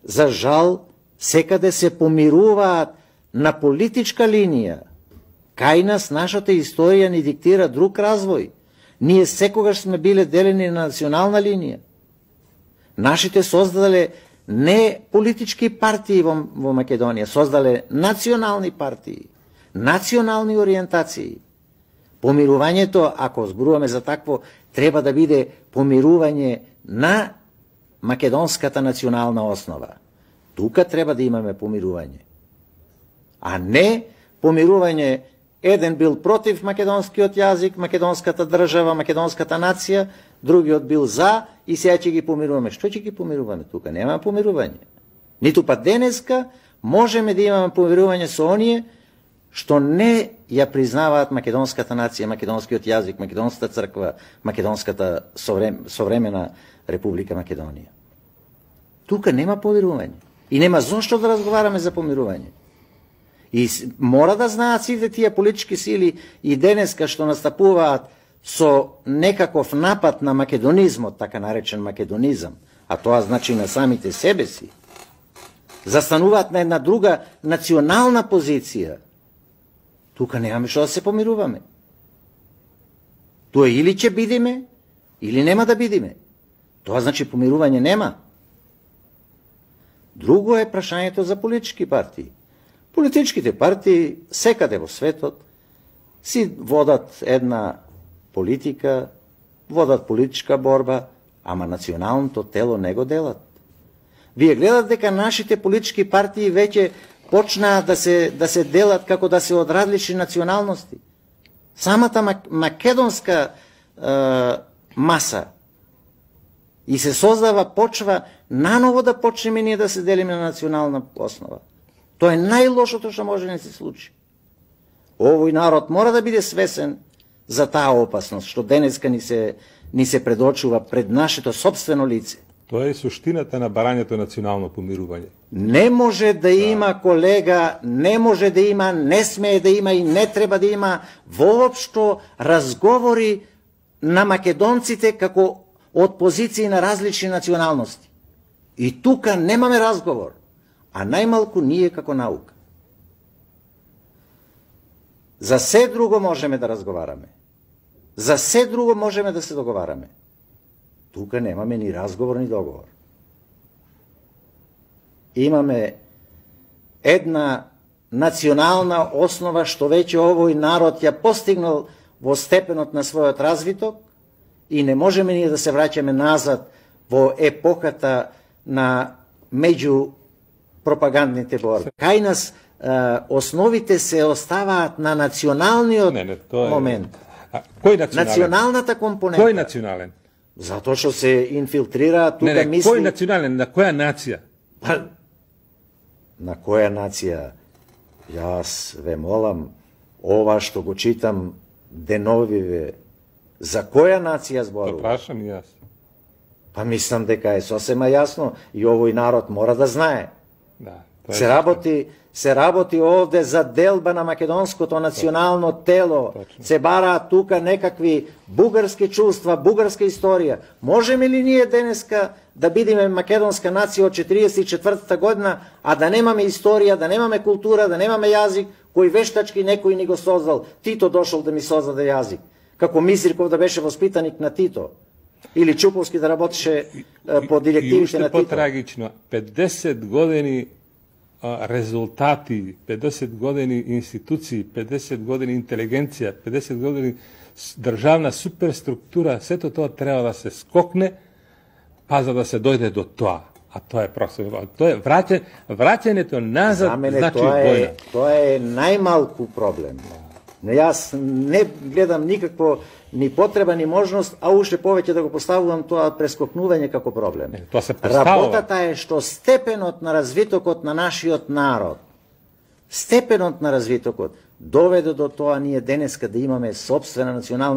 за жал, секаде се помируваат на политичка линија. Кај нас нашата историја ни диктира друг развој. Ние секогаш сме биле делени на национална линија. Нашите создале не политички партии во Македонија, создале национални партии, национални ориентации. Помирувањето, ако зборуваме за такво, треба да биде помирување на македонската национална основа. Тука треба да имаме помирување. А не помирување, еден бил против македонскиот јазик, македонската држава, македонската нација, другиот бил за и сега ќе ги помируваме. Што ќе ги помируваме тука? Нема помирување. Ниту па денеска можеме да имаме помирување со оние што не ја признаваат македонската нација, македонскиот јазик, македонската црква, македонската современа Република Македонија. Тука нема помирување. И нема зошто да разговараме за помирување. И мора да знаат сите тие политички сили и денеска што настапуваат со некаков напад на македонизмот, така наречен македонизам, а тоа значи на самите себе си, застануваат на една друга национална позиција. Тука немаме што да се помируваме. Тоа или ќе бидеме, или нема да бидеме. Тоа значи помирување нема. Друго е прашањето за политички партии. Политичките партии секаде во светот си водат една политика, водат политичка борба, ама националното тело не го делат. Вие гледат дека нашите политички партии веќе почнаа да се делат како да се од различни националности. Самата македонска маса и се создава почва наново да почнеме ние да се делиме на национална основа. Тоа е најлошото што може да не се случи. Овој народ мора да биде свесен за таа опасност што денеска ни се предочува пред нашето собствено лице. Тоа е суштината на барањето национално помирување. Не може да има, колега, не може да има, не смее да има и не треба да има воопшто разговори на македонците како од позиции на различни националности. И тука немаме разговор, а најмалку ние како наука. За се друго можеме да разговараме. За се друго можеме да се договараме. Тука немаме ни разговор, ни договор. Имаме една национална основа што веќе овој народ ја постигнал во степенот на својот развиток и не можеме ние да се враќаме назад во епоката на меѓу пропагандните борби. Кај нас основите се оставаат на националниот момент. Кој национален? Националната компонента. Кој национален? Затоа што се инфилтрираат тука мисли... Кој национален? На која нација? На која нација? Јас ве молам, ова што го читам деновиве, за која нација зборува? Прашам и јас. Па мислам дека е сосема јасно и овој народ мора да знае. Да, се работи овде за делба на македонското национално тело. Точно. Се бараат тука некакви бугарски чувства, бугарска историја. Можеме ли ние денеска да бидеме македонска нација од 44-та година, а да немаме историја, да немаме култура, да немаме јазик, кој вештачки некој ни го создал? Тито дошол да ми создаде јазик. Како Мизирков да беше воспитаник на Тито. Или Чуповски да работеше по директивите на Тито. И уште потрагично, 50 години резултати, 50 години институции, 50 години интелигенција, 50 години државна суперструктура, сето тоа треба да се скокне, па за да се дојде до тоа. А тоа е просто, тоа е враќањето назад, значи војна. Тоа е најмалку проблем. Но јас не гледам никакво ни потреба, ни можност, а уште повеќе да го поставувам тоа прескокнување како проблем. Тоа се поставува. Работата е што степенот на развитокот на нашиот народ, степенот на развитокот доведе до тоа ние денеска да имаме сопствена национална